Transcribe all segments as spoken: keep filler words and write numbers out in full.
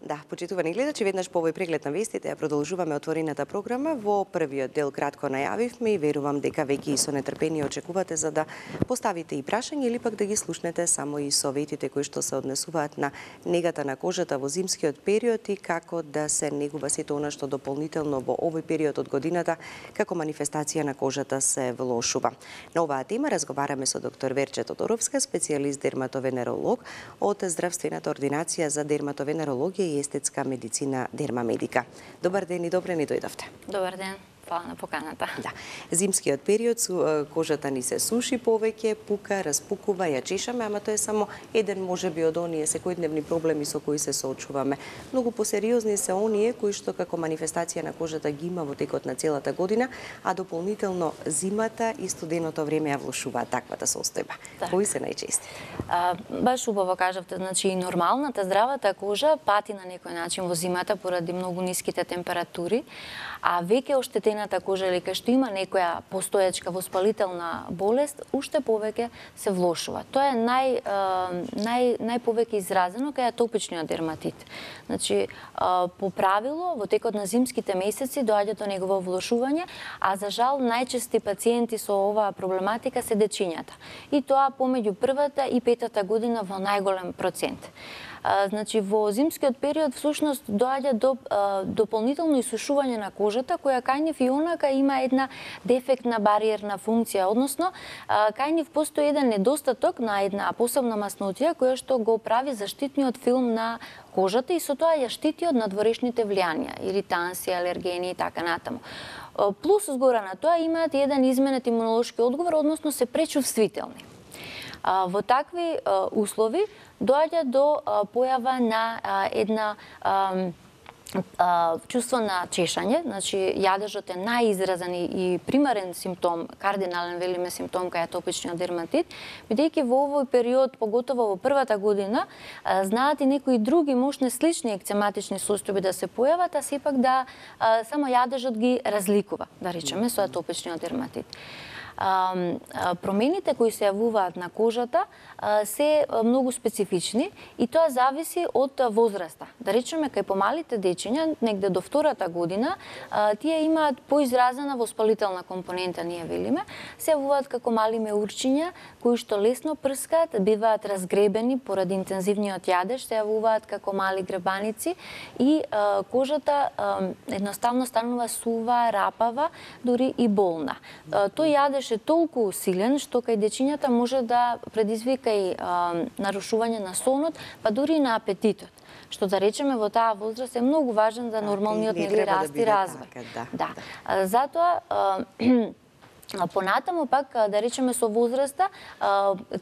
Да, почитувани гледачи, веднаш по овој преглед на вестите ја продолжуваме отворената програма. Во првиот дел кратко најавивме и верувам дека веќе и со нетрпение очекувате за да поставите и прашања или пак да ги слушнете само и советите кои што се однесуваат на негата на кожата во зимскиот период и како да се негува сето она што дополнително во овој период од годината како манифестација на кожата се влошува. На оваа тема разговараме со доктор Верче Тодоровска, специјалист дерматовенеролог од здравствената ординација за дерматовенерологија и естетска медицина Дермамедика. Добар ден и добре ни дојдовте. Добар ден. Фала на поканата. Да. Зимскиот период кожата ни се суши повеќе, пука, распукува, ја чешаме, ама тоа е само еден можеби од оние секојдневни проблеми со кои се соочуваме. Многу посериозни се оние кои што како манифестација на кожата ги има во текот на целата година, а дополнително зимата и студеното време ја влошуваат таквата состојба. Так. Кои се најчести? А, баш убаво кажавте, значи и нормалната здравата кожа пати на некој начин во зимата поради многу ниските температури, а веќе оштетената кожа или кај што има некоја постоечка воспалителна болест, уште повеќе се влошува. Тоа е нај нај најповеќе изразено кај атопичниот дерматит. Значи, по правило во текот на зимските месеци доаѓа до негово влошување, а за жал најчести пациенти со оваа проблематика се дечињата. И тоа помеѓу првата и петата година во најголем процент. А, значи во зимскиот период всушност доаѓа до а, дополнително исушување на кожата која кај нив и онака има една дефектна бариерна функција, односно а, кај нив постои еден недостаток на една посебна маснотија која што го прави заштитниот филм на кожата и со тоа ја штити од надворешните влијанија, иританси, алергени и така натаму. Плюс згора на тоа имаат еден изменет имунолошки одговор, односно се пречувствителни. А, во такви а, услови доаѓа до а, појава на а, една а, а, чувство на чешање, значи јадежот е најизразен и примарен симптом, кардинален велиме симптом кај атопичниот дерматит, бидејќи во овој период, поготово во првата година, а, знаат и некои други мошни слични екцематични состојби да се појават, а сепак да а, само јадежот ги разликува, да речеме, со атопичниот дерматит. Промените кои се јавуваат на кожата се многу специфични и тоа зависи од возраста. Да речеме, кај помалите дечиња, негде до втората година, тие имаат поизразена воспалителна компонента, ние велиме, се јавуваат како мали меурчиња, кои што лесно прскаат, биваат разгребени поради интензивниот јадеж, се јавуваат како мали гребаници и кожата едноставно станува сува, рапава, дури и болна. Тој јадеж е толку силен што кај дечињата може да предизвика и а, нарушување на сонот, па дури и на апетитот. Што да речеме во таа возраст е многу важен за нормалниот нели раст и развој. Да, да. да. Затоа а, понатаму пак, да речеме со возраста,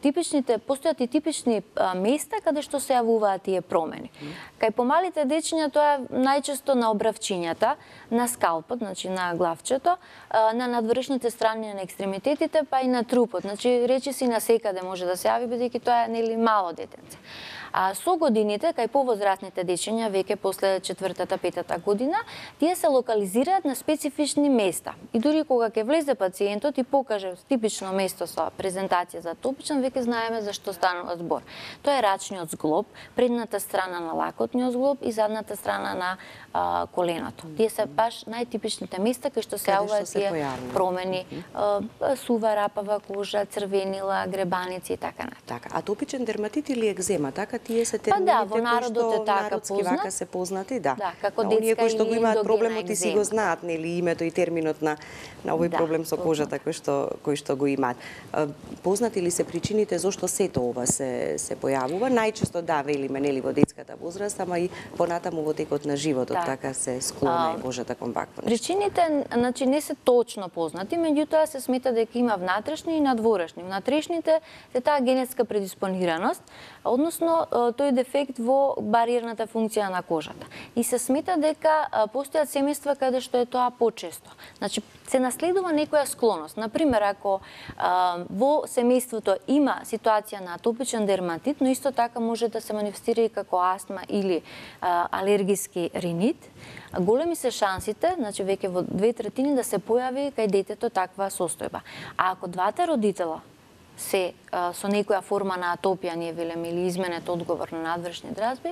типичните, постојат и типични места каде што се јавуваат тие промени. Кај помалите дечиња тоа е најчесто на обравчињата, на скалпот, значи на главчето, на надворешните страни на екстремитетите, па и на трупот. Значи речиси на секаде може да се јави, бидејќи тоа е нели мало детенце. А со годините, кај повозрастните дечиња, веќе после четвртата, петата година, тие се локализираат на специфични места. И дури кога ќе влезе пациентот и покаже типично место со презентација за атопичен, веќе знаеме за што станува збор. Тоа е рачниот зглоб, предната страна на лакотниот зглоб и задната страна на а, коленото. Тие се баш најтипичните места кај што се јавуваат тие промени, а, сува, рапава кожа, црвенила, гребаници и така натаму. Така, атопичен дерматит или екзема, така тие се термините па да, во народот е така народски вака се познати, да. Да, како да, детска оние кои што го имаат проблемот и си го екзема. знаат, нели, името и терминот на на овој да, проблем со кожата кој што кој што го имаат. Познати ли се причините зошто сето ова се се појавува? Најчесто да, велиме, нели, во детската возраст, ама и понатаму во текот на животот, да. Така се склона е кожата кон вакво нешто. Причините, значи, не се точно познати, меѓутоа се смета дека има внатрешни и надворешни. Внатрешните се таа генетска предиспонираност, односно тој дефект во бариерната функција на кожата. И се смета дека постојат семејства каде што е тоа почесто. Значи, се наследува некоја склоност. Например, ако а, во семејството има ситуација на атопичен дерматит, но исто така може да се манифестира и како астма или а, алергиски ринит, големи се шансите, значи веќе во две третини да се појави кај детето таква состојба. А ако двата родитела се а, со некоја форма на атопија, ние велеме, или изменет одговор на надвршни дразби,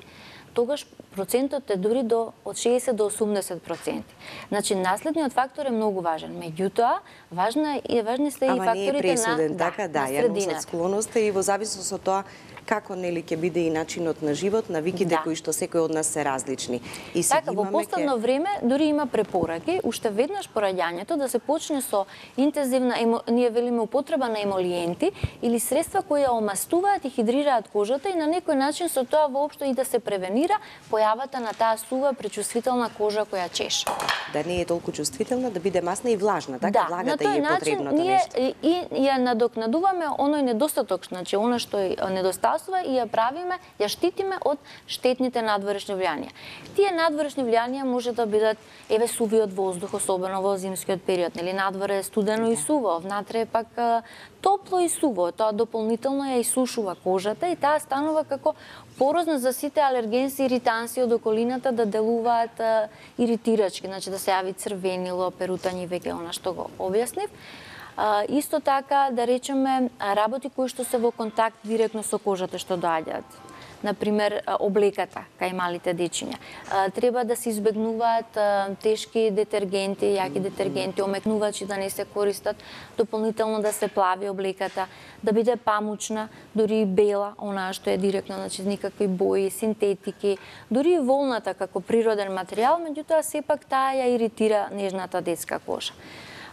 тогаш процентот е дури до од шеесет до осумдесет проценти. Значи, наследниот фактор е многу важен. Меѓутоа, важна е важни се и Ама факторите не е пресуден, на така, да, на ја носат склоноста и во зависност од тоа како нели ќе биде и начинот на живот, навиките Да. кои што секој од нас се различни. И се Така, ги во имаме последно ке- време дури има препораки, уште веднаш по раѓањето да се почне со интензивна, емо, ние велиме употреба на емолиенти или средства кои ја омастуваат и хидрираат кожата и на некој начин со тоа воопшто и да се превенира појавата на таа сува пречувствителна кожа која чеше. да не е толку чувствителна, да биде масна и влажна, така? Да, на Влагата тој е начин потребното ние нешто. и, и ја надокнадуваме оној недостаток, значи она што е недостасува и ја правиме, ја штитиме од штетните надворешни влијанија. Тие надворешни влијанија може да бидат еве сувиот воздух, особено во зимскиот период, нели надвор е студено и суво, внатре е пак а, топло и суво, тоа дополнително ја исушува кожата и таа станува како порозна за сите алергенси и иританси од околината да делуваат а, иритирачки, значи да се јави црвенило, перутање, веќе она што го објаснив. А, исто така, да речеме, работи кои што се во контакт директно со кожата што доаѓаат. Например, облеката кај малите дечиња. А, Треба да се избегнуваат а, тешки детергенти, јаки детергенти, омекнувачи да не се користат, дополнително да се плави облеката, да биде памучна, дури и бела, онаа што е директно, значи никакви бои, синтетики, дури и волната како природен материјал, меѓутоа сепак таа ја иритира нежната детска кожа.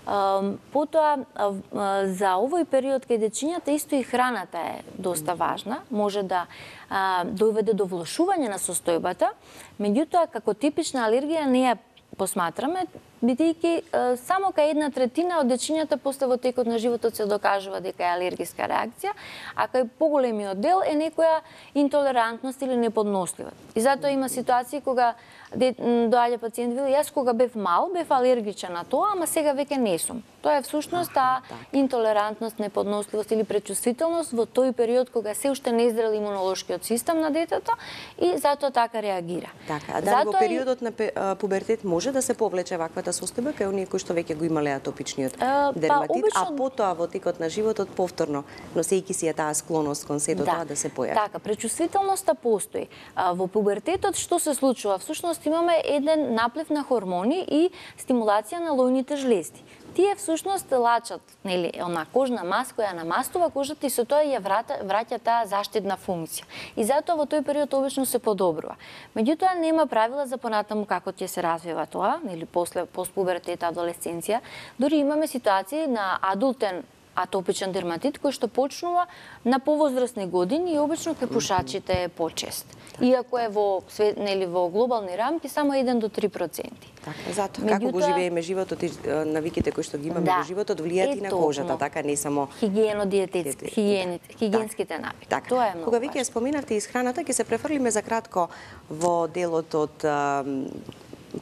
Uh, потоа, uh, uh, за овој период кај дечињата исто и храната е доста важна, може да uh, доведе до влошување на состојбата, меѓутоа како типична алергија не ја посматраме, бидејќи uh, само кај една третина од дечињата после во текот на животот се докажува дека е алергиска реакција, а кај поголемиот дел е некоја интолерантност или неподносливост. И затоа има ситуации кога доаѓа пациент вели јас кога бев мал бев алергичен на тоа, ама сега веќе не сум. Тоа е всушност таа интолерантност, неподносливост или пречувствителност во тој период кога се уште не издрел имунолошкиот систем на детето и затоа така реагира. Така, а дали во периодот на пубертет може да се повлече ваквата состојба кај оние кои што веќе го имале атопичниот дерматит, обично... а потоа во текот на животот повторно, носејќи си ја таа склоност кон сето да. тоа да се појави. Така, пречувствителноста постои. А, во пубертетот што се случува? Всушност имаме еден наплив на хормони и стимулација на лојните жлезди. Тие всушност лачат, нели, она кожна мас која намастува кожата и со тоа ја врата, враќа таа заштитна функција. И затоа во тој период обично се подобрува. Меѓутоа нема правила за понатаму како ќе се развива тоа, нели после постпубертет, адолесценција. Дури имаме ситуации на адултен атопичен дерматит кој што почнува на повозрасни години и обично кај пушачите е почест. Иако е во свет, нели во глобални рамки само еден до три проценти. Така, затоа како го живееме животот и навиките кои што ги имаме да, во животот влијаат и на кожата, така не само хигиено-диететски, хигиените, хигиенските навики. Така. Тоа е многу. Кога веќе споменавте исхраната, ќе се префрлиме за кратко во делот од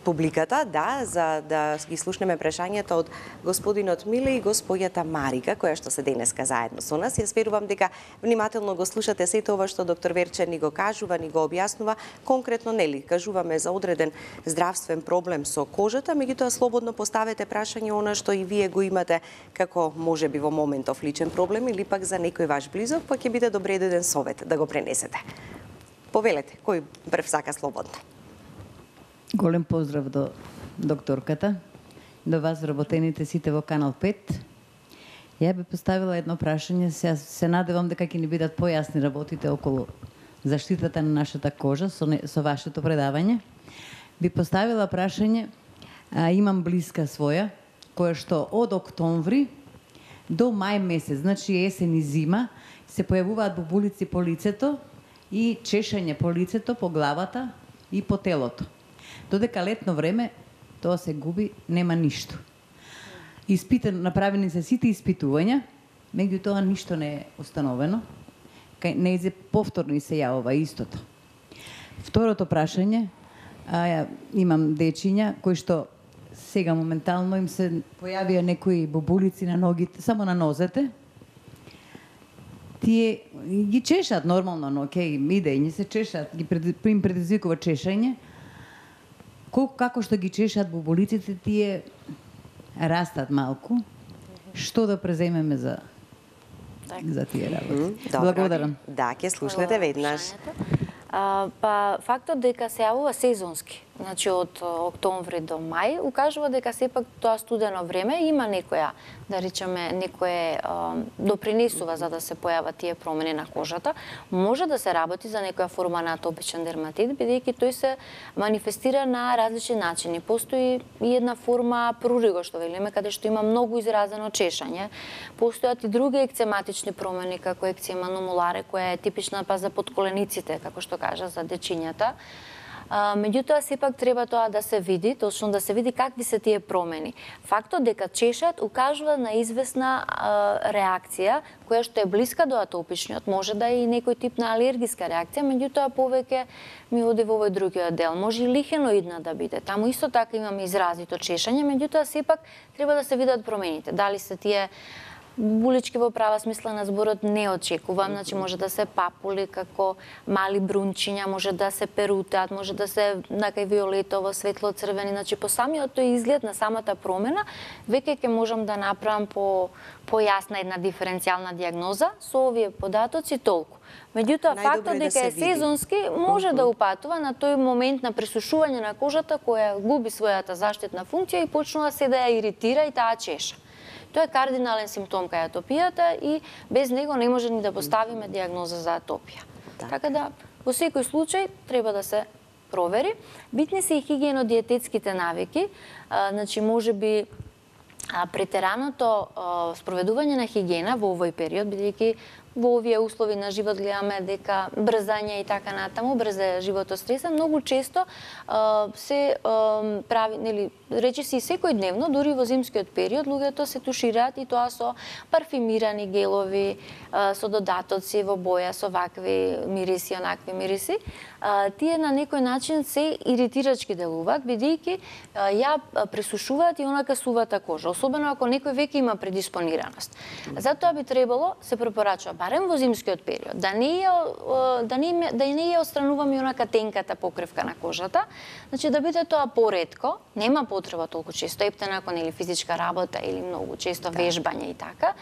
публиката, да, за да ги слушнеме прашањата од господинот Миле и господјата Марика, која што се денеска заедно со нас. Јас верувам дека внимателно го слушате сето ова што доктор Верче ни го кажува, ни го објаснува. Конкретно, нели, кажуваме за одреден здравствен проблем со кожата, меѓутоа слободно поставете прашање она што и вие го имате како можеби во моментов личен проблем или пак за некој ваш близок, па ќе биде добре еден совет да го пренесете. Повелете, кој прв сака слободно? Голем поздрав до докторката, до вас вработените сите во Канал пет. Ја би поставила едно прашање, се, се надевам дека ќе ни бидат појасни работите околу заштитата на нашата кожа со, не, со вашето предавање. Би поставила прашање, а, имам блиска своја, која што од октомври до мај месец, значи есен и зима, се појавуваат бубулици по лицето и чешање по лицето, по главата и по телото. Додека летно време тоа се губи, нема ништо. Испитан, направени се сите испитувања, меѓутоа ништо не е установено. Кај нејзе повторно и се јавува истото. Второто прашање, а, имам дечиња кои што сега моментално им се појавија некои бубулици на ногите, само на нозете. Тие ги чешат нормално, но окей, иде и се чешат, ги пред, им предизвикува чешање. Колку како што ги чешат бубулиците, тие растат малку. Што да преземеме за за тие работи. Добро. Благодарам. Да, ќе слушнете веднаш. А, па фактот дека се јавува сезонски, значи од октомври до мај, укажува дека сепак тоа студено време има некоја, да речеме, некое а, допринесува за да се појават тие промени на кожата. Може да се работи за некоја форма на атопичен дерматит, бидејќи тој се манифестира на различни начини. Постои и една форма пруриго, што велиме, каде што има многу изразено чешање. Постојат и други екцематични промени, како екцема номуларе, која е типична па за подколениците, како што кажа, за дечињата. А, меѓутоа, сепак треба тоа да се види, точно да се види какви се тие промени. Фактот дека чешат укажува на известна а, реакција, која што е блиска до атопичниот, може да е и некој тип на алергиска реакција, меѓутоа повеќе ми оди во овој другиот дел. Може и лихеноидна да биде. Таму исто така имаме изразито чешање, меѓутоа сепак треба да се видат промените. Дали се тие булички во права смисла на зборот не очекувам, значи може да се папули како мали брунчиња, може да се перутат, може да се накај виолетово, светло-црвени, значи по самиот тој изглед на самата промена, веќе ќе можам да направам по појасна една диференцијална дијагноза со овие податоци толку. Меѓутоа, фактот дека е сезонски може да упатува на тој момент на пресушување на кожата која губи својата заштитна функција и почнува се да ја иритира и таа чеша. Тоа е кардинален симптом кај атопијата и без него не може ни да поставиме дијагноза за атопија. Так. Така да, во секој случај треба да се провери. Битни се и хигиено-диететските навики, а, значи може би а, претераното а, спроведување на хигиена во овој период, бидејќи во овие услови на живот гледаме дека брзање и така натаму, брзе животот стреса, многу често а, се а, прави, нели, речи се и секојдневно, дури во зимскиот период, луѓето се тушираат и тоа со парфимирани гелови, а, со додатоци во боја, со вакви мириси, онакви мириси. А, тие на некој начин се иритирачки делуваат, бидејќи ја пресушуваат и онакасувата кожа, особено ако некој веќе има предиспонираност. Затоа би требало, се препорачува, барем во зимскиот период, да не ја, да не, да не ја отстрануваме онака тенката покривка на кожата, значи да биде тоа поретко, нема потреба толку често, ептен ако нели физичка работа или многу често вежбање и така,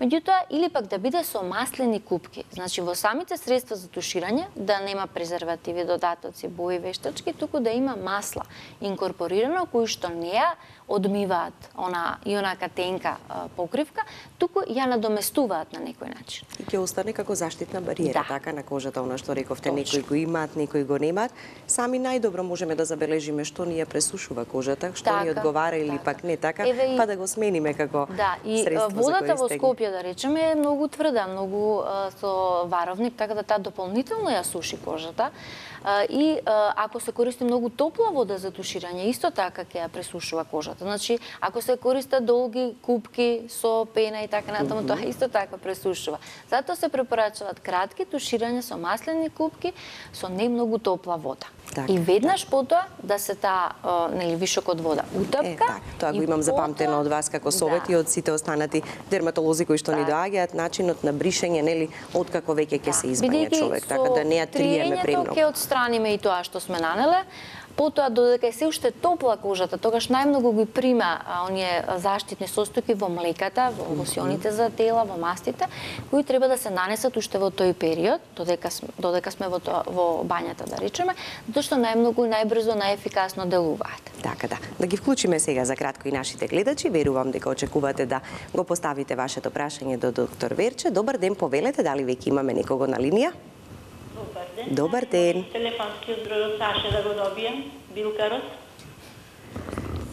меѓутоа или пак да биде со маслени купки, значи во самите средства за туширање да нема презервативи, додатоци, бои, вештачки, туку да има масла инкорпорирано кои што не ја одмиваат она и онака тенка а, покривка, туку ја надоместуваат на некој начин. И ќе остане како заштитна бариера, Да. така на кожата, она што рековте, Точно. некои го имаат, некои го немаат. Сами најдобро можеме да забележиме што ни ја пресушува кожата, што ни Така, одговара или така. пак не така, Еве и- па да го смениме како Да, и средство за водата во користење. Скопје, да речеме, е многу тврда, многу а, со варовник, така да таа дополнително ја суши кожата. А, и а, ако се користи многу топла вода за туширање, исто така ќе ја пресушува кожата. Значи, ако се користат долги купки со пена и така натаму, тоа исто така пресушува. Затоа се препорачуваат кратки туширања со маслени купки со не многу топла вода. Така, и веднаш потоа да се таа, а, нели, вишок од вода утапка. Е, так, тоа го и имам запамтено потоа- од вас како совет Да. и од сите останати дерматолози кои што ни Така. доаѓаат, начинот на бришење, нели, откако веќе ќе се избање Бидејќи човек, со така да не ја триеме триењето премногу. ќе отстраниме и тоа што сме нанеле. Потоа, додека е се уште топла кожата, тогаш најмногу ги прима а, оние заштитни состојки во млеката, во лосионите за тела, во мастите, кои треба да се нанесат уште во тој период, додека сме, додека сме во, тоа, во бањата, да речеме, затоа што најмногу, најбрзо, најефикасно делуваат. Така да. Да ги вклучиме сега за кратко и нашите гледачи. Верувам дека очекувате да го поставите вашето прашање до доктор Верче. Добар ден, повелете, дали веќе имаме некого на линија? Добар ден. Добар ден. Телефонскиот број од Саше да го добијам, Билкарот.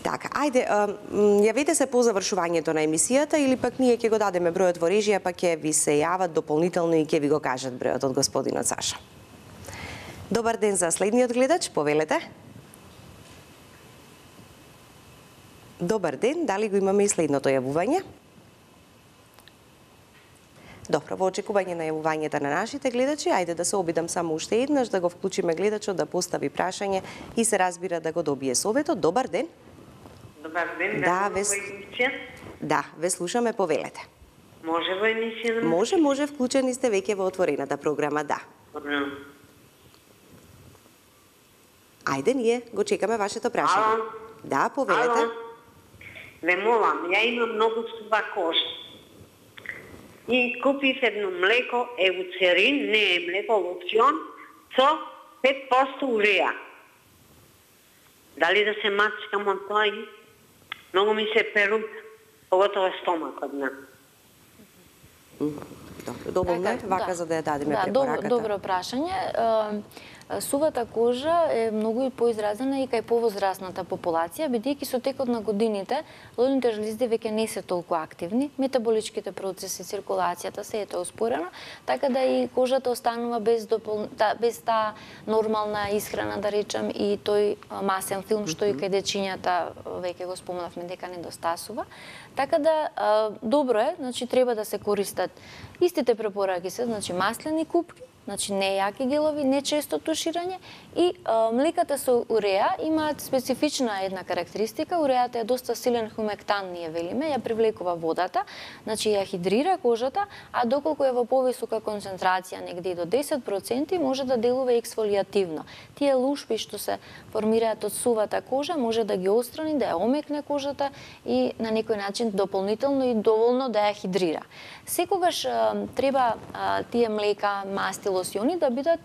Така, ајде, а, м, јавете се по завршувањето на емисијата или пак ние ќе го дадеме бројот во режија, па ќе ви се јават дополнително и ќе ви го кажат бројот од господинот Саша. Добар ден за следниот гледач, повелете. Добар ден, дали го имаме и следното јавување? Добро, во очекување на јавувањето на нашите гледачи, ајде да се обидам само уште еднаш да го вклучиме гледачот да постави прашање и се разбира да го добие советот. Добар ден. Добар ден, Да, да, вес- во емисија. Да, ве слушаме, повелете. Може во емисија да Може, може, вклучени сте веќе во отворената програма, да. Добро. Ајде, ние го чекаме вашето прашање. Ало? Да, повелете. Ало? Ве молам, ја имам многу сува кожа. и купив едно млеко еуцерин, не е млеко, лопцион, со пет проценти уреа. Дали да се мачкам од тоа? Многу ми се перут, поготово стомакот, не. Добро, доволно е вака да. за да ја дадеме да, препораката. Добро прашање. Сувата кожа е многу и поизразена и кај повозрасната популација, бидејќи со текот на годините лудните жлезди веќе не се толку активни, метаболичките процеси, циркулацијата се ете успорена, така да и кожата останува без допол... та, без таа нормална исхрана, да речем, и тој масен филм што и кај дечињата веќе го спомнавме дека недостасува. Така да добро е, значи треба да се користат истите препораки се, значи маслени купки, значи не јаки гелови, не често туширање и а, млеката со уреа имаат специфична една карактеристика. Уреата е доста силен хумектан, ние велиме, ја привлекува водата, значи ја хидрира кожата, а доколку е во повисока концентрација, негде до десет проценти, може да делува ексфолијативно. Тие лушпи што се формираат од сувата кожа може да ги отстрани, да ја омекне кожата и на некој начин дополнително и доволно да ја хидрира. Секогаш а, треба а, тие млека, масти, лосиони да бидат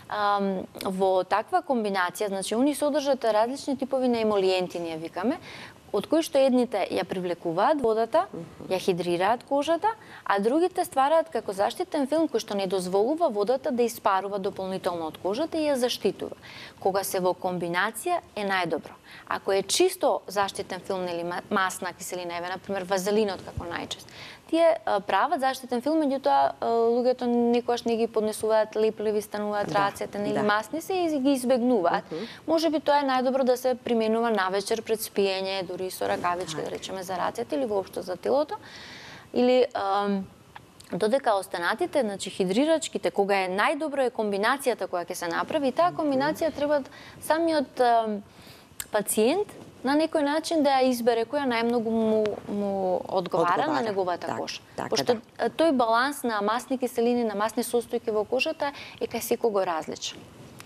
а, во таква комбинација, значи они содржат различни типови на емолиенти, ние викаме, од кои што едните ја привлекуваат водата, ја хидрираат кожата, а другите ствараат како заштитен филм кој што не дозволува водата да испарува дополнително од кожата и ја заштитува. Кога се во комбинација е најдобро. Ако е чисто заштитен филм или масна киселина, еве например вазелинот како најчест, тие прават заштитен филм, меѓутоа луѓето никогаш не ги поднесуваат лепливи, стануваат да, рацете, нели да. Масни се и ги избегнуваат. Uh -huh. Можеби тоа е најдобро да се применува навечер пред спиење, дури со ракавички, да речеме за рацете или воопшто за телото. Или ам, додека останатите, значи хидрирачките, кога е најдобро е комбинацијата која ќе се направи, и таа комбинација треба самиот ам, пациент на некој начин да ја избере која најмногу му, му одговара, одговара на неговата так, кожа. Так, Пошто да. тој баланс на масни киселини, на масни состојки во кожата е кај секого различен.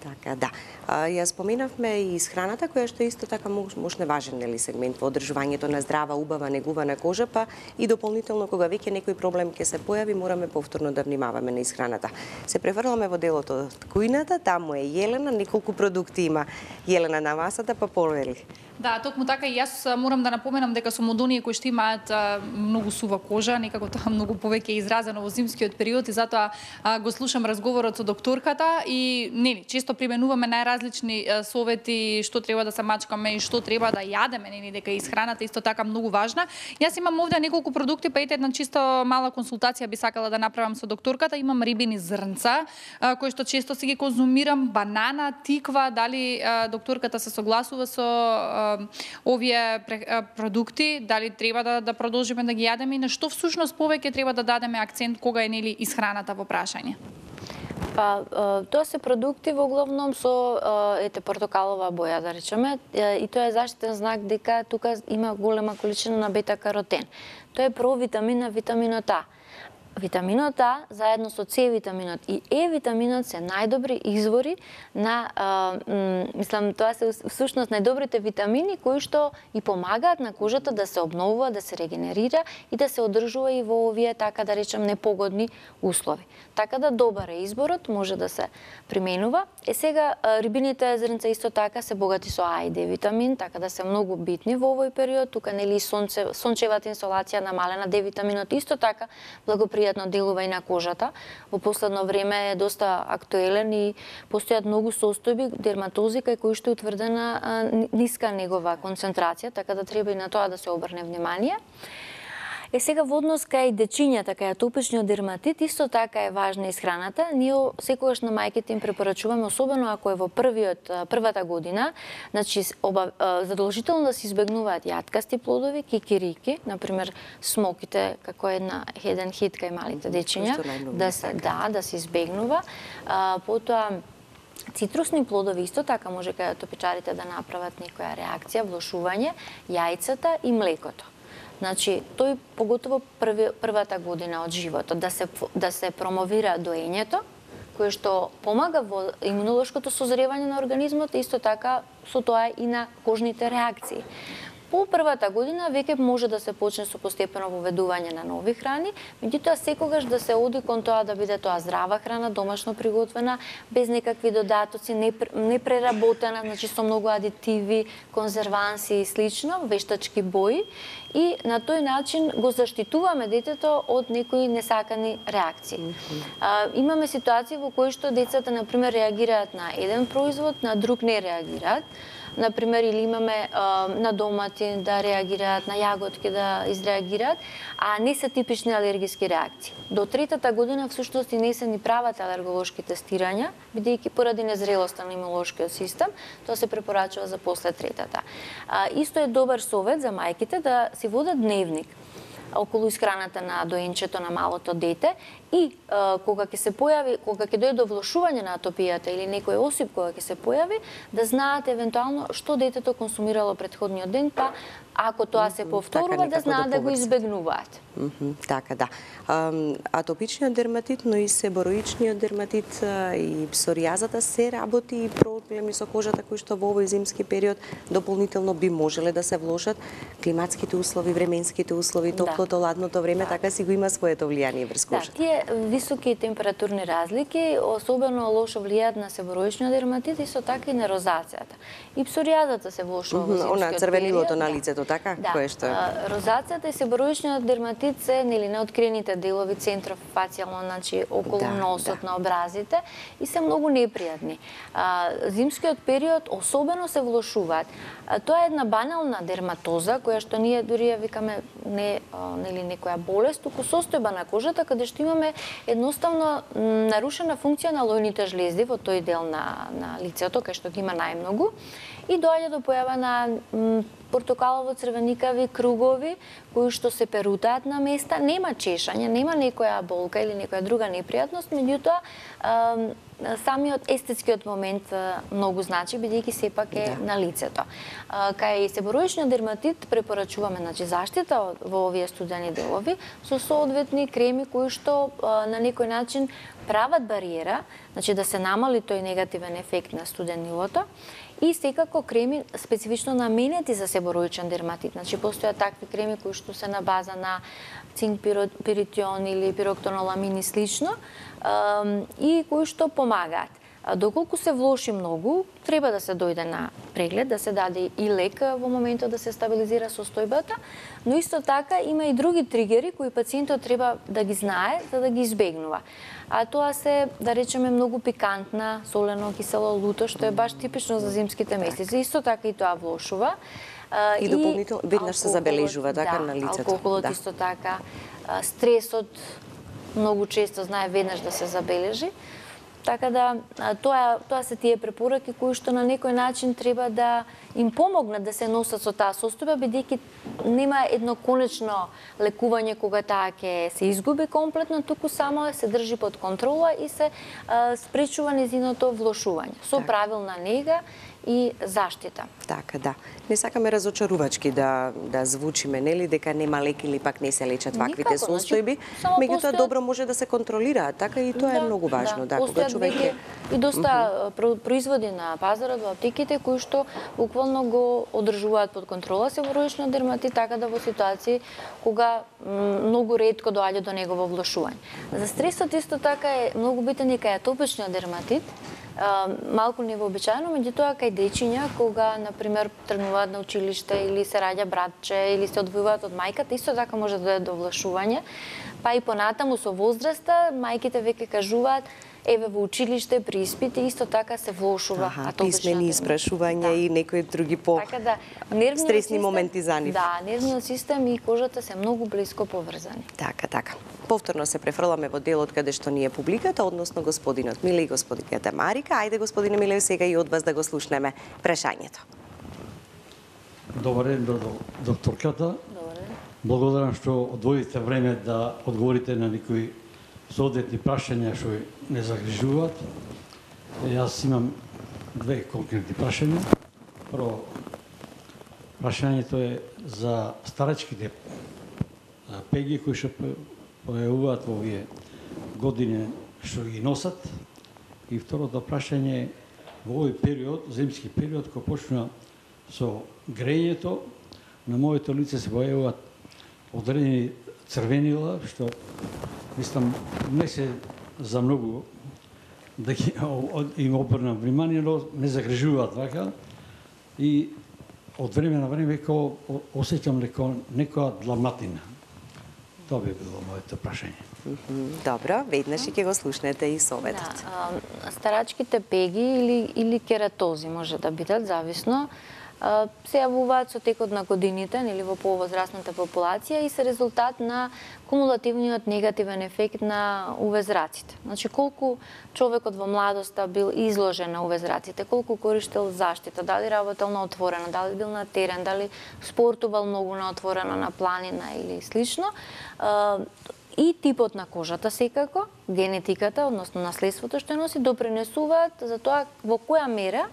Така, да. А, ја споменавме и исхраната, која што исто така можне важен нели сегмент во одржувањето на здрава, убава, негувана кожа, па и дополнително кога веќе некој проблем ќе се појави, мораме повторно да внимаваме на исхраната. Се префрламе во делото од кујната, таму е Јелена, неколку продукти има Јелена на масата, па повели. Да, токму така и јас морам да напоменам дека сум од оние кои што имаат а, многу сува кожа, некако тоа многу повеќе изразено во зимскиот период и затоа а, го слушам разговорот со докторката и нели често применуваме најразлични а, совети што треба да се мачкаме и што треба да јадеме, нели дека исхраната исто така многу важна. Јас имам овде неколку продукти, па ете една чисто мала консултација би сакала да направам со докторката. Имам рибини зрнца а, кои што често си ги конзумирам, банана, тиква, дали а, докторката се согласува со а, овие продукти, дали треба да, да продолжиме да ги јадеме и на што всушност повеќе треба да дадеме акцент кога е нели исхраната во прашање? Па, тоа се продукти во главном со ете портокалова боја, да речеме, и тоа е заштитен знак дека тука има голема количина на бета-каротен. Тоа е провитамин на витаминот А. Витаминот А, заедно со С витаминот и Е витаминот се најдобри извори на, а, мислам, тоа се всушност најдобрите витамини кои што и помагаат на кожата да се обновува, да се регенерира и да се одржува и во овие, така да речем, непогодни услови. Така да добар е изборот, може да се применува. Е сега, рибините зрнца исто така се богати со А и Д витамин, така да се многу битни во овој период. Тука нели сонце, сончевата инсолација намалена, Д витаминот исто така благопријатно делува и на кожата. Во последно време е доста актуелен и постојат многу состојби дерматози кај кои што е утврдена а, ниска негова концентрација, така да треба и на тоа да се обрне внимание. Е сега во однос кај дечињата, кај атопичниот дерматит, исто така е важна исхраната. Ние секогаш на мајките им препорачуваме, особено ако е во првиот првата година, значи оба, задолжително да се избегнуваат јаткасти плодови, кикирики, например смоките, како една еден хит кај малите дечиња, да се да, да се избегнува. А, потоа цитрусни плодови исто така може кај атопичарите да направат некоја реакција, влошување, јајцата и млекото. Значи, тој поготово први, првата година од животот, да се, да се промовира доењето, кое што помага во имунолошкото созревање на организмот, исто така со тоа и на кожните реакции. По првата година веќе може да се почне со постепено воведување на нови храни, меѓутоа секогаш да се оди кон тоа да биде тоа здрава храна, домашно приготвена, без некакви додатоци, непреработена, значи со многу адитиви, конзерванси и слично, вештачки бои, и на тој начин го заштитуваме детето од некои несакани реакции. А, имаме ситуации во кои што децата, например, реагираат на еден производ, на друг не реагираат. Например, или имаме а, на домати да реагираат, на јаготки да изреагираат, а не се типични алергиски реакции. До третата година всушност и не се ни прават алерголошки тестирања, бидејќи поради незрелоста на имунолошкиот систем, тоа се препорачува за после третата. А, исто е добар совет за мајките да си водат дневник околу исхраната на доенчето, на малото дете, и а, кога ќе се појави, кога ќе дојде до влошување на атопијата или некој осип кога ќе се појави, да знаат евентуално што детето консумирало претходниот ден, па ако тоа се повторува, да знаат да го избегнуваат. Mm -hmm, така, да. Um, атопичниот дерматит, но и себороичниот дерматит и псоријазата се работи и проблеми со кожата кои што во овој зимски период дополнително би можеле да се влошат. Климатските услови, временските услови, топлото, да. ладното време, да. така си го има своето влијание врз кожата. Да, тие високи температурни разлики особено лошо влијаат на себороичниот дерматит и со така и на розацијата. И псоријазата се влошува во зимскиот период. Она црвенилото на лицето, така? Да. Кое што е? Розацијата и себороичниот дерматит се нели неоткриените делови центрофацијално, значи околу да, носот да. на образите, и се многу непријатни. А, зимскиот период особено се влошуваат. А, тоа е една банална дерматоза која што ние дури ја викаме не а, нели некоја болест, туку состојба на кожата каде што имаме едноставно нарушена функција на лојните жлезди во тој дел на на лицето кај што ги има најмногу, и доаѓа до појава на портокалово-црвеникави кругови кои што се перутаат на места, нема чешање, нема некоја болка или некоја друга непријатност, меѓутоа самиот естетскиот момент многу значи, бидејќи сепак е да. на лицето. Кај себороичниот дерматит препорачуваме значи заштита во овие студени делови со соодветни креми кои што на некој начин прават бариера, значи да се намали тој негативен ефект на студенилото, и секако креми специфично наменети за себороичен дерматит. Значи постојат такви креми кои што се на база на цинк пиритион или пироктоноламин и слично, и кои што помагаат. Доколку се влоши многу, треба да се дојде на преглед, да се даде и лек во моментот да се стабилизира состојбата, но исто така има и други тригери кои пациентот треба да ги знае за да ги избегнува. А тоа се, да речеме, многу пикантна, солено, кисело, луто, што е баш типично за зимските месеци. Исто така и тоа влошува. И, и дополнително веднаш се забележува така да, на лицето. Алкохолот да. исто така, стресот многу често знае веднаш да се забележи. Така да тоа тоа се тие препораки кои што на некој начин треба да им помогнат да се носат со таа состојба, бидејќи нема едно конечно лекување кога таа ќе се изгуби комплетно, туку само се држи под контрола и се а, спречува незиното влошување со так. правилна нега и заштита. Така, да. Не сакаме разочарувачки да да звучиме, нели, дека нема лек или пак не се лечат ваквите состојби, значи, меѓутоа постојат... добро може да се контролираат, така и тоа да, е многу важно, да, да кога човек е... И доста uh -huh. производи на пазарот во аптеките кои што буквално го одржуваат под контрола себороичниот дерматит, така да во ситуации кога многу ретко доаѓа до негово влошување. За стресот исто така е многу битен и кај атопичниот дерматит, малку невообичаено, меѓутоа кај дечиња кога на пример тргнуваат на училиште или се раѓа братче или се одвојуваат од мајката, исто така може да дојде до влошување. Па и понатаму со возраста мајките веќе кажуваат еве во училиште при испити исто така се влошува атопичната дерматит. Писмени испрашувања да. и некои други по така да, стресни систем, моменти за нив. Да, нервниот систем и кожата се многу блиско поврзани. Така, така. Повторно се префрламе во делот каде што ни е публиката, односно господинот Миле и господината Марика. Ајде, господине Миле, сега и од вас да го слушнеме прашањето. Добар ден, докторката. Добар ден. Благодарам што одвоите време да одговорите на некои соодветни прашања што не загрижуваат. Јас имам две конкретни прашања. Прво, прашањето е за старачките пеги кои што појавуваат во овие години што ги носат. И второто прашање е во овој период, зимски период, кој почна со грејето, на моето лице се појавуваат одредени црвенила, што мислам не се за многу да ги им обрнам внимание, но не загрижуваат вака. И од време на време како осеќам леко некоја дламатина. Тоа би било моето прашање. Добро, веднаш ќе го слушнете и советот. Да, старачките пеги или, или кератози може да бидат, зависно, се јавуваат со текот на годините, нели во повозрастната популација и се резултат на кумулативниот негативен ефект на у ве зраците. Значи, колку човекот во младоста бил изложен на у ве зраците, колку користел заштита, дали работел на отворено, дали бил на терен, дали спортувал многу на отворено, на планина или слично, и типот на кожата секако, генетиката, односно наследството што носи, допринесуваат за тоа во која мера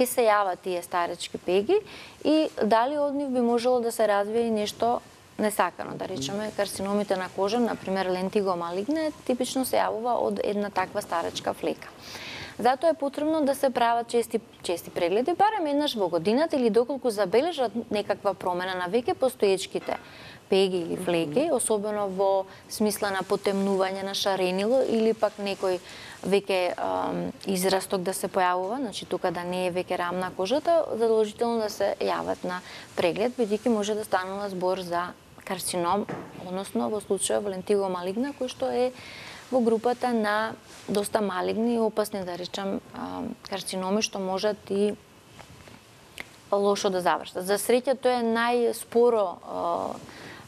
ќе се јават тие старечки пеги и дали од нив би можело да се развие и нешто несакано, да речеме карциномите на кожа, например лентиго малигне, типично се јавува од една таква старечка флека. Затоа е потребно да се прават чести чести прегледи, барем еднаш во годината или доколку забележат некаква промена на веќе постоечките пеги или флеки, особено во смисла на потемнување на шаренило или пак некој веќе израсток да се појавува, значи тука да не е веќе рамна кожата, задолжително да се јават на преглед, бидејќи може да станува збор за карцином, односно во случајот лентиго малигна, кој што е во групата на доста малигни и опасни, да речам, карциноми што можат и лошо да завршат. За среќа тоа е најспоро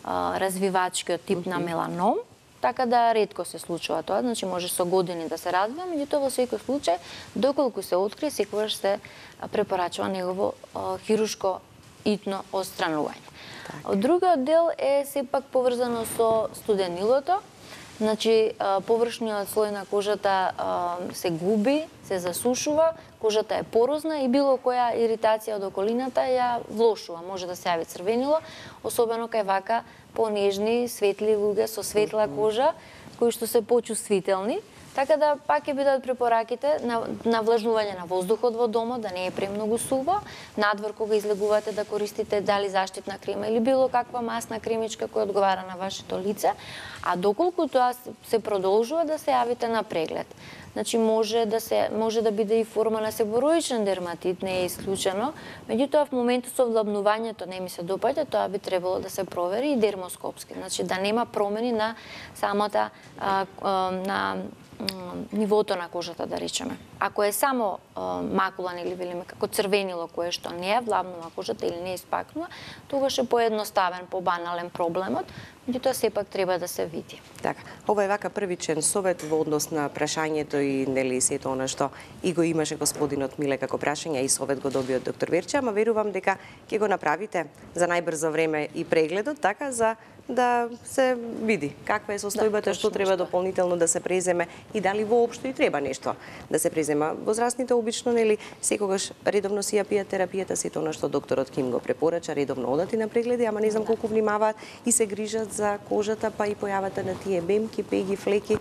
развивачкиот тип на меланом, така да ретко се случува тоа, значи може со години да се развива, меѓутоа во секој случај, доколку се открие, секогаш се препорачува негово хируршко итно отстранување. Другиот дел е сепак поврзано со студенилото, значи површниот слој на кожата се губи, се засушува, кожата е порозна и било која иритација од околината ја влошува. Може да се јави црвенило, особено кај вака понежни, светли луѓе со светла кожа, кои што се почувствителни. Така да пак ќе бидат препораките на, на влажнување на воздухот во домот, да не е премногу суво, надвор кога излегувате да користите дали заштитна крема или било каква масна кремичка која одговара на вашето лице, а доколку тоа се продолжува да се јавите на преглед. Значи може да се може да биде и форма на себороичен дерматит, не е исклучено, меѓутоа в моментот со влабнувањето не ми се допаѓа, тоа би требало да се провери и дермоскопски, значи да нема промени на самата а, а, на нивото на кожата, да речеме. Ако е само а, макулан или велиме како црвенило кое што не е влабнува кожата или не е испакнува, тогаш е поедноставен, побанален проблемот, меѓутоа сепак треба да се види. Така, ова е вака првичен совет во однос на прашањето и нели сето она што и го имаше господинот Миле како прашање и совет го доби од доктор Верче, ама верувам дека ќе го направите за најбрзо време и прегледот, така за да се види каква е состојбата, да, што треба дополнително да се преземе и дали воопшто и треба нешто да се презема. Возрастните обично нели секогаш редовно си ја пијат терапијата, сето она што докторот Ким го препорача, редовно одат и на прегледи, ама не знам колку внимаваат и се грижат за кожата, па и појавата на тие бемки, пеги, флеки.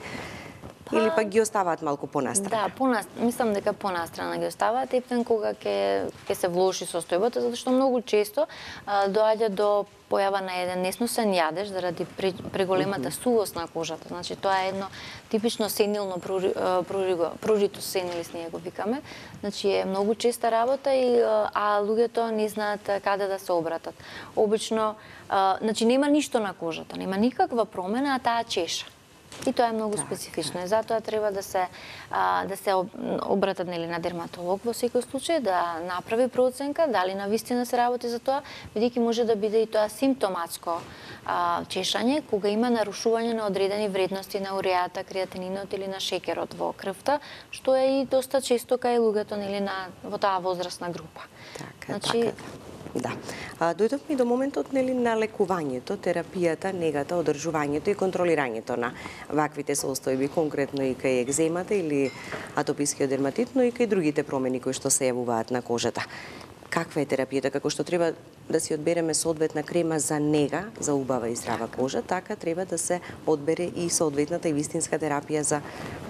Па, или пак ги оставаат малку понастрана? Да, понастрана. Мислам дека понастрана ги оставаат, ептен кога ќе ќе се влоши состојбата, затоа што многу често а, доаѓа до појава на еден несносен јадеж заради преголемата сувост на кожата. Значи тоа е едно типично сенилно прурито сенилис, ние го викаме. Значи е многу честа работа и а луѓето не знаат каде да се обратат. Обично, а, значи нема ништо на кожата, нема никаква промена, а таа чеша. И тоа е многу так, специфично. И затоа треба да се а, да се обратат нели на дерматолог во секој случај, да направи проценка дали навистина се работи за тоа, бидејќи може да биде и тоа симптоматско а, чешање кога има нарушување на одредени вредности на уреата, креатининот или на шекерот во крвта, што е и доста често кај луѓето нели на во таа возрастна група. Така, значи, така. Да. А, дојдовме и до моментот нели на лекувањето, терапијата, негата, одржувањето и контролирањето на ваквите состојби, конкретно и кај екземата или атопискиот дерматит, но и кај другите промени кои што се јавуваат на кожата. Каква е терапијата, како што треба да си одбереме соодветна крема за нега, за убава и здрава кожа, така треба да се одбере и соодветната и вистинска терапија за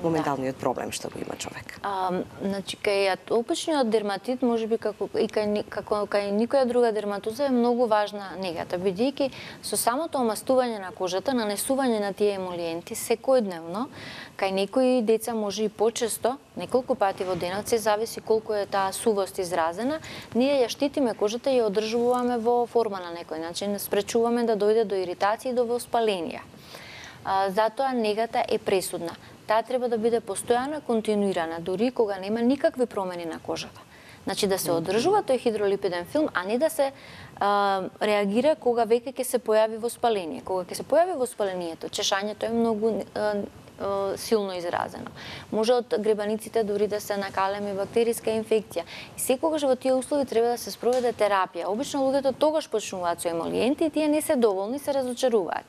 моменталниот проблем што го има човек. А, значи, кај атопичниот дерматит, можеби како и кај, како, кај никоја друга дерматоза е многу важна негата, бидејќи со самото омастување на кожата, нанесување на тие емолиенти секојдневно, кај некои деца може и почесто, неколку пати во денот, се зависи колку е таа сувост изразена, ние ја штитиме кожата и ја одржуваме во форма на некој начин, спречуваме да дојде до иритација и до воспаленија. А, затоа негата е пресудна. Таа треба да биде постојана, континуирана, дури кога нема никакви промени на кожата. Значи да се одржува тој хидролипиден филм, а не да се а, реагира кога веќе ќе се појави воспаление. Кога ќе се појави воспалението, чешањето е многу а, силно изразено. Може од гребаниците дури да се накалеме бактериска инфекција. И секогаш во тие услови треба да се спроведе терапија. Обично луѓето тогаш почнуваат со емолиенти и тие не се доволни, се разочаруваат.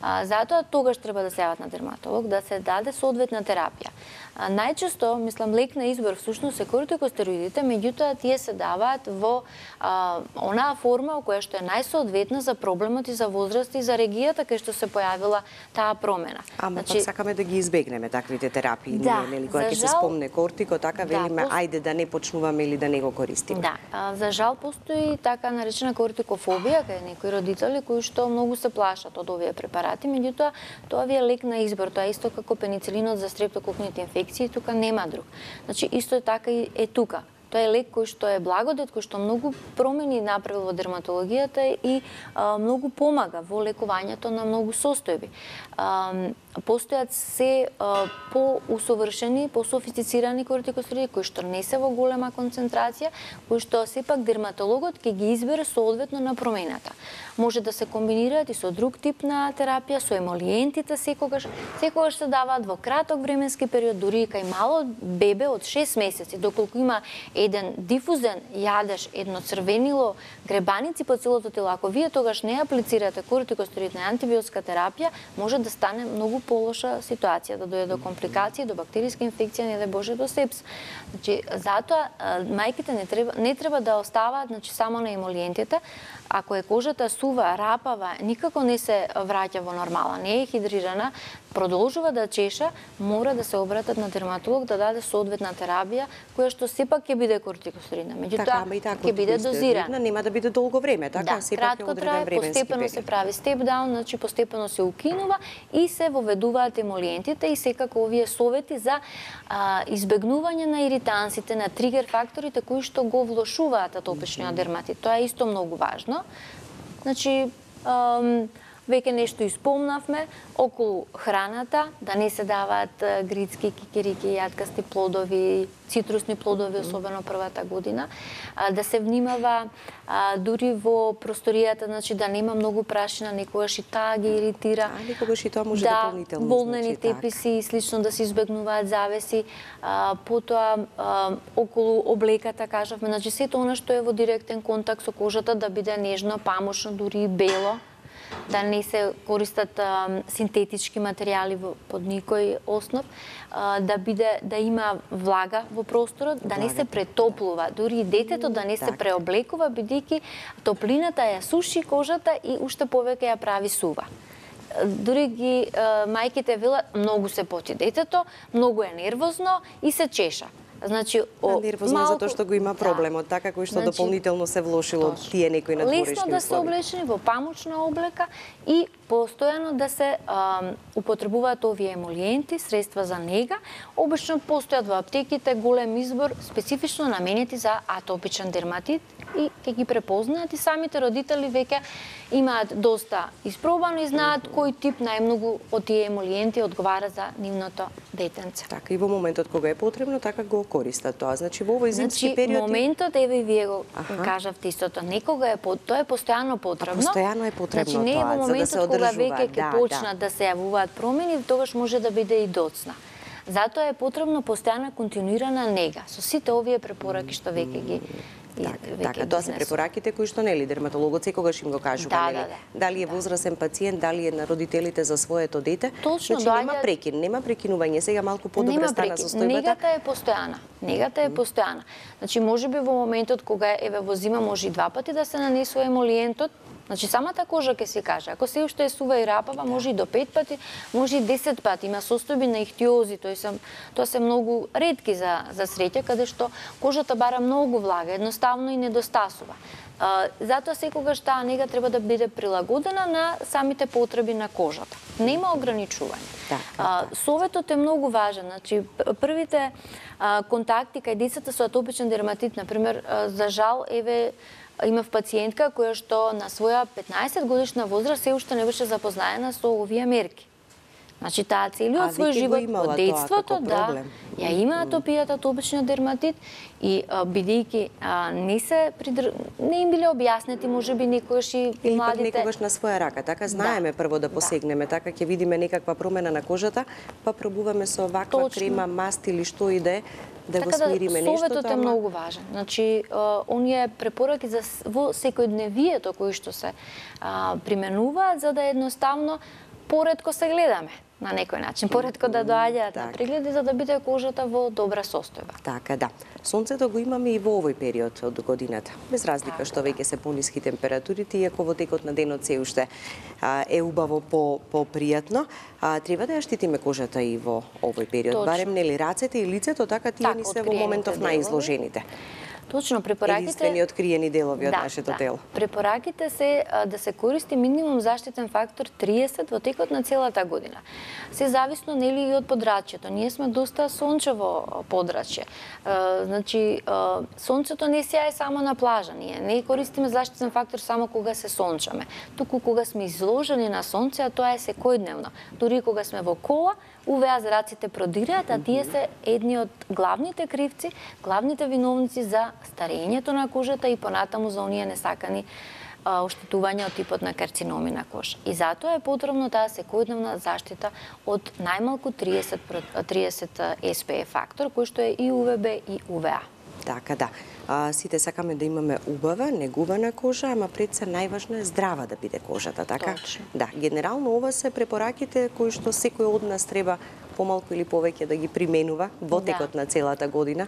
А, затоа тогаш треба да се јават на дерматолог, да се даде соодветна терапија. А, најчесто, мислам, лек на избор всушност се кортикостероидите, меѓутоа тие се даваат во а, онаа форма која што е најсоодветна за проблемот и за возраст и за регијата кај што се појавила таа промена. Ама значи, пак сакаме да ги избегнеме таквите терапии, да, нели, кога ќе се спомне кортико, така да, велиме пост... ајде да не почнуваме или да не го користиме. Да, а, за жал постои така наречена кортикофобија кај некои родители кои што многу се плашат од овие препарати, меѓутоа тоа ви е лек на избор, тоа е исто како пеницилинот за стрептококните инфекции, тука нема друг. Значи исто така и е тука. Тоа е лек кој што е благодет, кој што многу промени направил во дерматологијата и а, многу помага во лекувањето на многу состојби. А, постојат се а, по-усовршени, по-софистицирани кортикостероиди кои што не се во голема концентрација, кои што сепак дерматологот ќе ги избере соодветно на промената. Може да се комбинираат и со друг тип на терапија, со емолиентите секогаш, секогаш се даваат во краток временски период, дури и кај мало бебе од шест месеци, доколку има еден дифузен јадеж, едно црвенило, гребаници по целото тело, ако вие тогаш не аплицирате кортикостероидна и антибиотска терапија, може да стане многу полоша ситуација, да дојде до компликации, до бактериска инфекција, не дај Боже до сепс. Значи, затоа мајките не треба не треба да оставаат, значи, само на емолиентите. Ако е кожата сува, рапава, никако не се враќа во нормала, не е хидрирана, продолжува да чеша, мора да се обратат на дерматолог да даде соодветна терапија, која што сепак ќе биде кортикостероидна. Меѓутоа, така, ќе биде дозирана. Нема да биде долго време, така? Да, сепак кратко трае, постепено период. се прави степ даун, значи постепено се укинува и се воведуваат емолиентите и секако овие совети за а, избегнување на иритансите, на тригер факторите кои што го влошуваат атопичниот дерматит. Тоа е исто многу важно. Значи, ам, веќе нешто испомнавме околу храната, да не се даваат грицки, кикирики, јаткасти плодови, цитрусни плодови, особено првата година, да се внимава дури во просторијата, значи да нема многу прашина, некогаш и таа ги иритира. А, некогаш и тоа може да, дополнително. волнени значи, теписи и слично да се избегнуваат завеси, а, потоа а, околу облеката, кажавме, значи сето она што е во директен контакт со кожата да биде нежно, памучно, дури и бело, да не се користат а, синтетички материјали во, под никој основ, а, да биде да има влага во просторот, да не се претоплува, дури и детето да не се преоблекува, бидејќи топлината ја суши кожата и уште повеќе ја прави сува. Дури ги а, мајките велат многу се поти детето, многу е нервозно и се чеша. Значи, о, нервозно малку... затоа што го има проблемот, да, така кој што значи, дополнително се влошило од тие некои надворешни услови. Лесно да се облечени во памучна облека и постојано да се а, употребуваат овие емолиенти, средства за нега. Обично постојат во аптеките голем избор специфично наменети за атопичен дерматит и ќе ги препознаат и самите родители веќе имаат доста испробано и знаат кој тип најмногу од тие емолиенти одговара за нивното детенце. Така и во моментот кога е потребно, така го користат тоа. Значи во овој зимски значи, период моментот еве вие го Аха. кажавте истото, некога е тоа е постојано потребно. А постојано е потребно значи, не е тоа, во за да моментот се кога одржува, веќе ќе да, почнат да. да се јавуваат промени, тогаш може да биде и доцна. Затоа е потребно постојана континуирана нега со сите овие препораки што веќе ги Така, така, тоа се препораките кои што нели дерматологот секогаш им го кажува, да, нели? Да, да. Дали е да. возрастен пациент, дали е на родителите за своето дете. Точно, значи доаѓа... нема прекин, нема прекинување, сега малку подобра стана состојбата. Негата е постојана. Негата е постојана. Значи можеби во моментот кога еве во зима може и два пати да се нанесува емолиентот. Значи самата кожа ќе се каже, ако се уште е сува и рапава, може и до пет пати, може и десет пати. Има состојби на ихтиози, тоа се тоа се многу ретки за за среќа, каде што кожата бара многу влага, едноставно и недостасува. Uh, затоа секогаш таа нега треба да биде прилагодена на самите потреби на кожата. Нема ограничување. Так, uh, советот е многу важен. Значи првите uh, контакти кај децата со атопичен дерматит, например, uh, за жал еве имав пациентка која што на своја петнаесет годишна возраст се уште не беше запознаена со овие мерки. Значи таа целиот свој живот од детството, да, ја има атопијата, атопичниот дерматит и а, бидејќи а, не се придр... не им биле објаснети можеби некојаш и или младите. Или пак некогаш на своја рака, така знаеме да. прво да посегнеме, да. така ќе видиме некаква промена на кожата, па пробуваме со ваква Точно. крема, маст или што и да е, да така го смириме да, нешто. Советот е многу важен. Значи, а, оние препораки за во секојдневието кои што се а, применуваат за да едноставно поретко се гледаме на некој начин, поретко да доаѓаат на прегледи за да биде кожата во добра состојба. Така, да. Сонцето го имаме и во овој период од годината. Без разлика што веќе се пониски температурите, иако во текот на денот се уште а, е убаво по попријатно, а, треба да ја штитиме кожата и во овој период. Точно. Барем нели рацете и лицето, така тие так, ни се во моментов наизложените. Точно, препораките... Единствени откриени делови од да, нашето да. тело. Препораките се а, да се користи минимум заштитен фактор триесет во текот на целата година. Се зависно нели и од подрачјето. Ние сме доста сончево подрачје. А, значи, а, сонцето не сјае само на плажа. Ние не користиме заштитен фактор само кога се сончаме. Туку кога сме изложени на сонце, а тоа е секојдневно. Дури кога сме во кола, у ве а зраците продираат, а тие се едни од главните кривци, главните виновници за старењето на кожата и понатаму за оние несакани а, оштетувања од типот на карциноми на кожа. И затоа е потребно таа секојдневна заштита од најмалку триесет, триесет ес пе еф фактор, кој што е и у ве бе и у ве а. Така, да. А, сите сакаме да имаме убава, негувана кожа, ама пред се најважно е здрава да биде кожата, така? Точно. Да, генерално ова се препораките кои што секој од нас треба помалку или повеќе да ги применува во текот да. на целата година,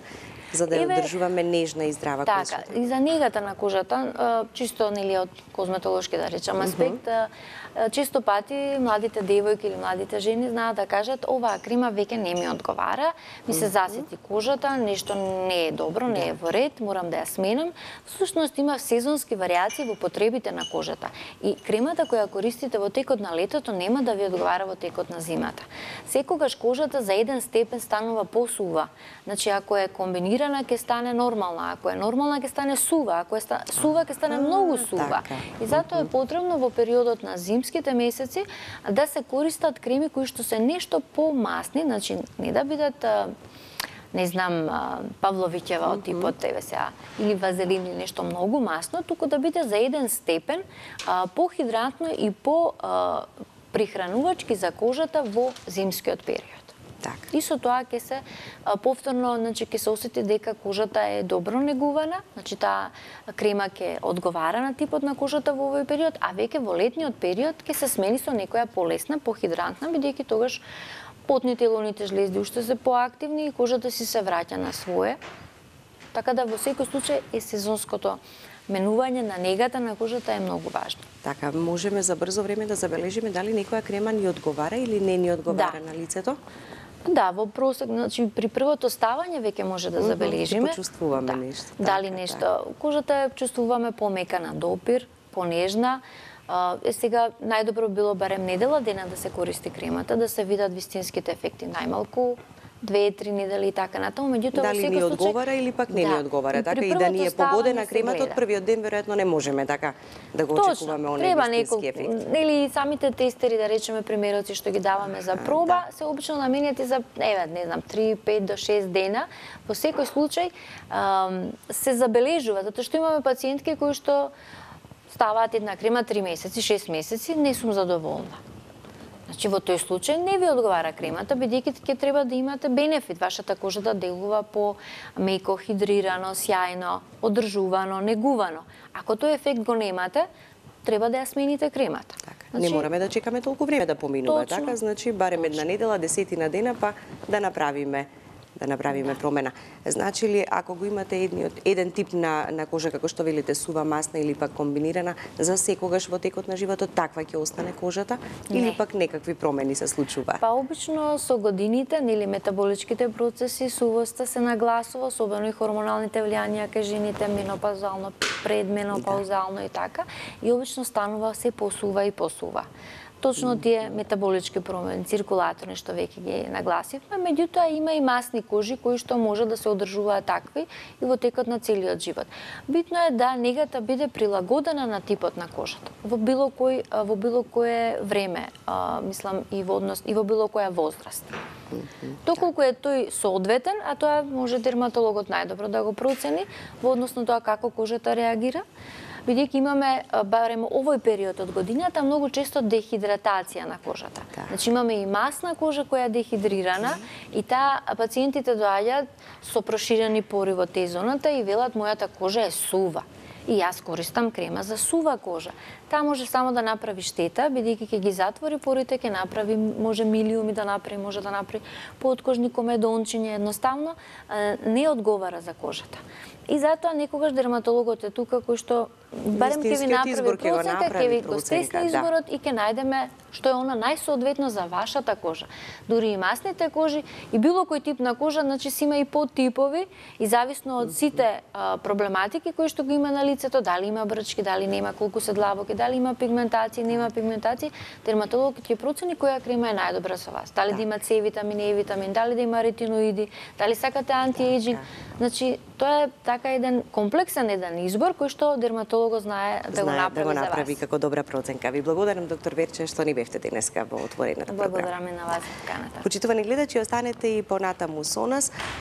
за да ја одржуваме нежна и здрава така, кожа. Така, и за негата на кожата, чисто нели од козметолошки да речам аспект, mm -hmm. често пати младите девојки или младите жени знаат да кажат оваа крема веќе не ми одговара, ми се засети кожата, нешто не е добро, не е во ред, морам да ја сменам. Всушност има сезонски варијации во потребите на кожата. И кремата која користите во текот на летото нема да ви одговара во текот на зимата. Секогаш кожата за еден степен станува посува. Значи ако е комбинирана ќе стане нормална, ако е нормална ќе стане сува, ако е ста... сува ќе стане многу сува. И затоа е потребно во периодот на зимските месеци да се користат креми кои што се нешто помасни, значи не да бидат не знам, Павловиќева од типот еве сега, или вазелин или нешто многу масно, туку да биде за еден степен похидратно и по прихранувачки за кожата во зимскиот период. Так. И со тоа ќе се повторно, значи ќе се осети дека кожата е добро негувана, значи таа крема ќе одговара на типот на кожата во овој период, а веќе во летниот период ќе се смени со некоја полесна, похидрантна, бидејќи тогаш потните и лоните жлезди уште се поактивни и кожата си се враќа на свое. Така да во секој случај е сезонското менување на негата на кожата е многу важно. Така, можеме за брзо време да забележиме дали некоја крема ни одговара или не ни одговара да. на лицето? Да, во просек, значи при првото ставање веќе може да забележиме. Ќе почувствуваме да. нешто. Дали така, нешто, така. кожата е чувствуваме помека на допир, понежна. Е сега најдобро било барем недела дена да се користи кремата, да се видат вистинските ефекти најмалку две-три недели и така натаму, меѓутоа дали ни одговара или пак не да, ни одговара, така и да ни е погодена кремата од првиот ден веројатно не можеме така да го Точно, очекуваме оние вистински ефекти. Или самите тестери, да речеме примероци што ги даваме за проба, да. се обично наменети за еве не знам три, пет до шест дена. Во секој случај ам, се забележува затоа што имаме пациентки кои што ставаат една крема три месеци, шест месеци, не сум задоволна. Значи во тој случај не ви одговара кремата, бидејќи ќе треба да имате бенефит, вашата кожа да делува по меко, хидрирано, сјајно, одржувано, негувано. Ако тој ефект го немате, треба да ја смените кремата. Така, значи, не мораме да чекаме толку време да поминува, точно, така? Значи барем една недела, десетина дена па да направиме да направиме да. промена. Значи ли, ако го имате едниот, еден тип на, на кожа, како што велите, сува, масна или пак комбинирана, за секогаш во текот на животот, таква ќе остане кожата? Не. Или пак некакви промени се случуваат? Па обично со годините, нели метаболичките процеси, сувоста се нагласува, особено и хормоналните влијанија кај жените, менопаузално, предменопаузално да. и така, и обично станува се посува и посува. Точно тие метаболички промени, циркулаторни што веќе ги нагласивме, меѓутоа има и масни кожи кои што може да се одржуваат такви и во текот на целиот живот. Битно е да негата биде прилагодена на типот на кожата. Во било кој во било кое време, а, мислам и во однос и во било која возраст. Доколку е тој соодветен, а тоа може дерматологот најдобро да го процени во однос на тоа како кожата реагира. Бидејќи имаме, барем овој период од годината, многу често дехидратација на кожата. Да. Значи имаме и масна кожа која е дехидрирана и таа пациентите доаѓаат со проширени пори во Т-зоната и велат мојата кожа е сува. И јас користам крема за сува кожа. Таа може само да направи штета, бидејќи ќе ги затвори порите, ќе направи, може милиуми да направи, може да направи подкожни комедончиња, едноставно не одговара за кожата. И затоа некогаш дерматологот е тука кој што барем ќе ви направи проценка, ќе ви го стесни изборот да. И ќе најдеме што е она најсоодветно за вашата кожа. Дури и масните кожи и било кој тип на кожа, значи си има и подтипови и зависно од сите а, проблематики кои што го има на лицето, дали има брчки, дали нема, колку се длабоки, дали има пигментација, нема пигментација, дерматологот ќе процени која крема е најдобра за вас. Дали да, да има С витамин, Е витамин, дали да има ретиноиди, дали сакате антиејджинг. Значи тоа е така еден комплексен еден избор кој што дерматологот знае да го направи, да го направи за вас. како добра проценка. Ви благодарам, доктор Верче, што ни бевте денеска во отворената програма. Благодараме на вас за поканата. Почитувани гледачи, останете и понатаму со нас.